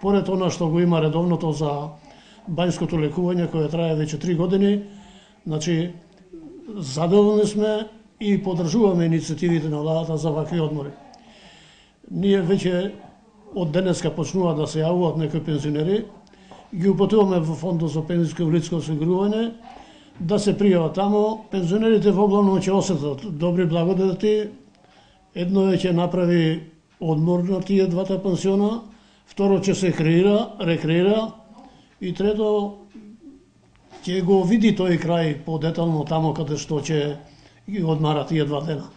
Поред она што го има редовното за бањското лекување кое трае веќе 3 години, значи задоволни сме и поддржуваме иницијативите на владата за вакви одмори. Ние веќе од денеска почнуваат да се јавуваат некои пензионери, ги упатуваме во Фондот за пензионско и инвалидско осигурување да се пријават таму. Пензионерите во главно ќе осетат добри благодати. Едно е ќе направи одмор на тие двата пансиона, второ ќе се рекреира и трето ќе го види тој крај подетално таму каде што ќе ги одмара тие 2 дена.